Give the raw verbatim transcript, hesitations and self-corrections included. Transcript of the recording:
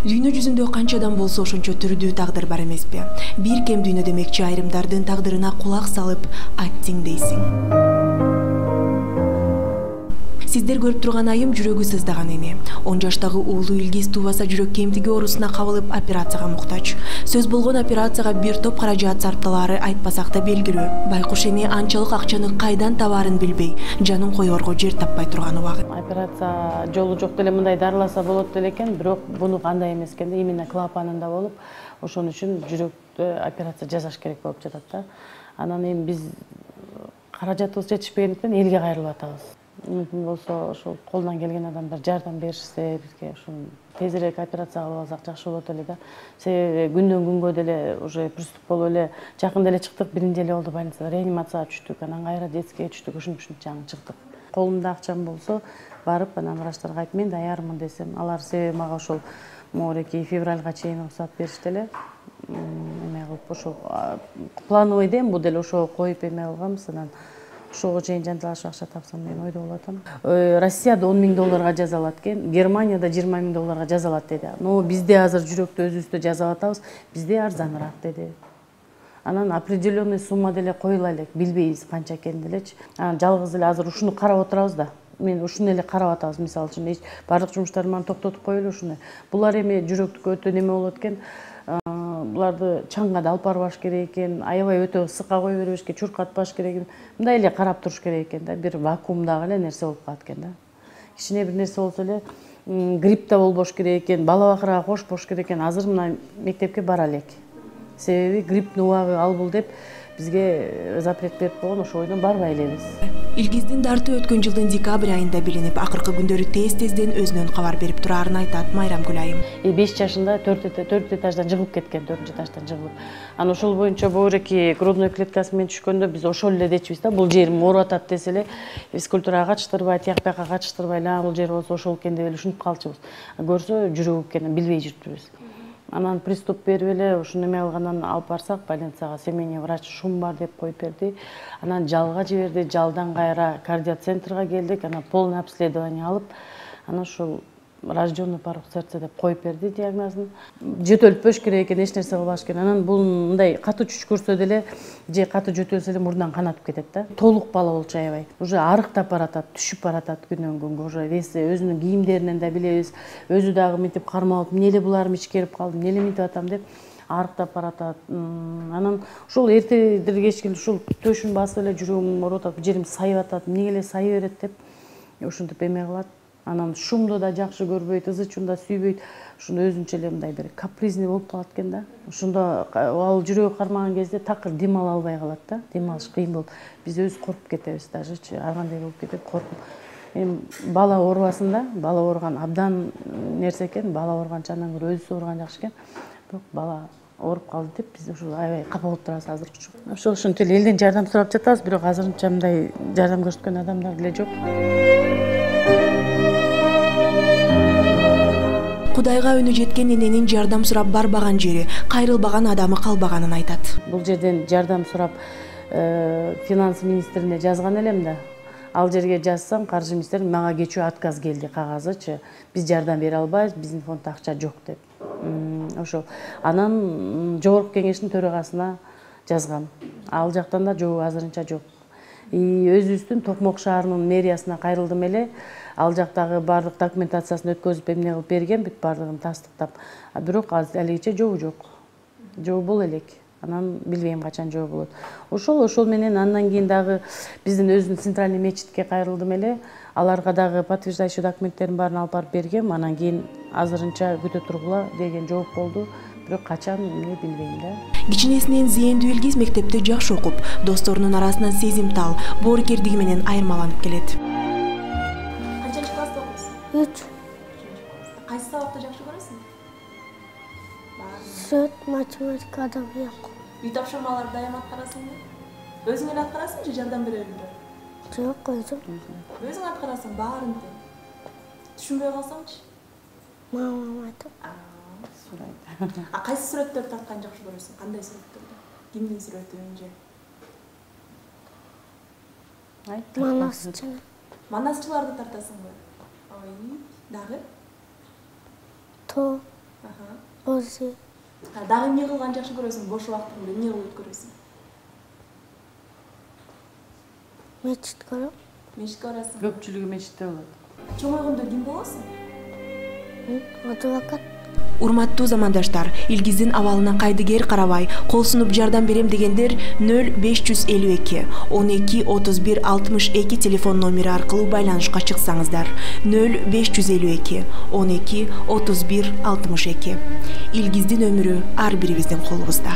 Дүйнө жүзүндө канчадан болсо ошончо түрдүү тагдыр бар эмеспи? Бир кем дүйнө демекчи айрымдардын тагдырына кулак салып аттиң дейсиң. Сиздер көрүп турган айым жүрөгү сыздаган эне. он жаштагы уулу Илгиз туубаса жүрөк кемтиги оорусуна кабылып операцияга муктач. Сөз болгон операцияга бир топ каражат сарпталаары айтпасак да белгилүү. Байкуш эне анчалык акчаны кайдан табаарын билбей, жанын коерго жер таппай турган убагы. Операция жолу жок деле мындай дарыласа болот деле экен, бирок буну кандай эмес экен, именно клапанында болуп, ошон үчүн жүрөктө операция жасаш керек болуп жатат да. Анан эми биз каражатыбыз жетишпегендиктен элге кайрылып атабыз. Мүмкүн болсо ошол колунан келген адамдар жардам беришсе бизге, ошол тезирээк операция кылып алсак жакшы болот эле да. Себеби күндөн күнгө деле уже приступ болуп эле жакында эле чыктык, биринчи эле болду больницада, реанимацияга түштүк, анан кайра детскийге түштүк, ушинтип ушинтип жаңы чыктык. Колумда акчам болсо барып анан врачтарга айтып мен даярмын десем, алар себеби мага ошол моореки февралга чейин уруксат беришти эле. Эме кылып ошол плановый дем бул деле ошого коюп эме кылганбыз, анан ошого чейин жанталашып акча тапсам деген ойдо болуп атам. Россияда он миң долларга жазалат экен, Германияда жыйырма миң долларга жазалат деди. Но бизде азыр жүрөктү өзүбүздө жасап атабыз, бизде арзаныраак деди. Анан определенный сумма деле коюла элек, билбейбиз канча экенин делечи. Анан жалгыз эле азыр ушуну карап отурабыз да. Мен ушуну эле карап атабыз, мисалы үчүн баардык жумуштарды мана токтотуп коелу ушуну. Булар эми жүрөктүккө өтө неме болот экен. Буларды чаңга да алып барбаш керек экен, аябай өтө ысыкка кое бербеш керек, чуркатпаш керек экен. Мындай эле карап туруш керек экен да, бир вакуумдагы эле нерсе болуп калат экен да. Кичине бир нерсе болсо эле грипп да болбош керек экен, бала бакырага кошпош керек экен. Азыр мына мектепке бара элек. Себеби грипптин убагы албыл деп бизге запрет берип койгон, ошол бойдон барбай элебиз. Илгиздин дарты өткөн жылдын декабрь айында билинип, акыркы күндөрү тез-тезден өзүнөн кабар берип турарын айтат Майрамкүл айым. беш жашында төрт этаждан жыгылып кеткен, төртүнчү этаждан жыгылып. Анан ошол боюнча боореки грудной клеткасы менен түшкөндө биз ошол эле дечүбүз да, бул жерим ооруп атат десе эле физкультурага катыштырбай, тияк бияка катыштырбай, эле бул жер болсо ошол экен деп эле ушинтип калчубуз. Көрсө жүрөгү экенин билбей жүрүптүрбүз. Анан приступ берип эле ушуну эме кылгандан алып барсак больницага, семейный врач шум бар деп коюп берди. Анан жалга жиберди, жалдан кайра кардиоцентрге келдик, анан полный обследование алып, анан ушул рожденный порог сердца деп коюп берди диагнозун. Жөтөлтпөш керек экен, эч нерсе кылбаш керек. Анан бул мындай катуу түш көрсө деле же катуу жөтөлсө эле мурундан канатып кетет да. Толук бала болчу аябай. Уже арыктап баратат, түшүп баратат күндөн күнгө. Уже веси өзүнүн кийимдеринен да билебиз. Өзү дагы мынтип кармалып, эмне эле буларым ичкерип калдым, эмне эле мынтип атам деп арыктап баратат. Анан ушул эртедир кечке ушул төшүн басып эле жүрөгүм ооруп атат, жерим сайып атат, эмне эле сайы берет деп ушинтип эме кылат. Анан шумду да жакшы көрбөйт, ызы чуун да сүйбөйт. Ушуну өзүнчө эле мындай бир капризный болуп калат экен да. Ошондо ал жүрөгү кармаган кезде такыр дем ала албай калат да. Дем алыш кыйын болуп. Биз өзүбүз коркуп кетебиз дажечи. Ар кандай болуп кетип коркуп. Эми бала оорубасын да, бала ооруган абдан нерсе экен. Бала ооруганча андан көрө өзү ооруган жакшы экен. Бирок бала ооруп калды деп биз ушул аябай капа болуп турабыз азыркыча. Ошол ошентип эле элден жардам сурап жатабыз, бирок азырынча мындай жардам көрсөткөн адамдар деле жок. Кудайга өнү жеткен эненин жардам сурап барбаган жери, кайрылбаган адамы калбаганын айтат. Бул жерден жардам сурап финанс министрине жазган элем да. Ал жерге жазсам, каржы министри мага кечүү отказ келди, кагазычы. Биз жардам бере албайбыз, биздин фонддо акча жок деп. Ошол. Анан жогорку кеңештин төрагасына жазгам. Ал жактан да жок, азырынча жок. Өзүбүздүн Токмок шаарынын мэриясына кайрылдым эле. Ал жактагы баардык документациясын өткөзүп эмне кылып берген, бүт баардыгын тастыктап. Бирок алигиче жобу жок. Жобу боло элек. Анан билбейм качан жобу болот. Ошол ошол менен андан кийин дагы биздин өзүнүн центральный мечитке кайрылдым эле. Аларга дагы подтверждающий документтерин баарын алып барып бергем. Анан кийин азырынча күтө тургула деген жооп болду. Бирок качан эмне билбейм да. Кичинесинен зээндүү Илгиз мектепте жакшы окуп, досторунун арасынан сезимтал, боорукердиги менен айырмаланып келет. Канчанчы класста окуйсуң? үч. Кайсы сабакты жакшы көрөсүң? Сүт, математика, адабият. Үй тапшырмаларды дайым аткарасыңбы? Өзүң эле аткарасың же жардам беребиңби? Жок, өзүм. Өзүң аткарасың баарын тең. Түшүнбөй калсаңчы? Мамам айтып. А кайсы сүрөттөрдү тарткан жакшы көрөсүң? Кандай сүрөттөрдү? Кимдин сүрөтүн же? Манасчы. Манасчыларды тартасыңбы? Ой, дагы? То. Ози. Дагы эмне кылган жакшы көрөсүң? Бош убактыңды эмне кылып өткөрөсүң? Мечит көрөм. Мечитке барасың. Көпчүлүгү мечитте болот. Чоңойгондо ким болосуң? Адвокат. Урматтуу замандаштар, Илгиздин абалына кайдыгер карабай, кол сунуп жардам берем дегендер нөл беш жүз элүү эки он эки отуз бир алтымыш эки телефон номери аркылуу байланышка чыксаңыздар. нөл беш жүз элүү эки он эки отуз бир алтымыш эки. Илгиздин өмүрү ар бирибиздин колубузда.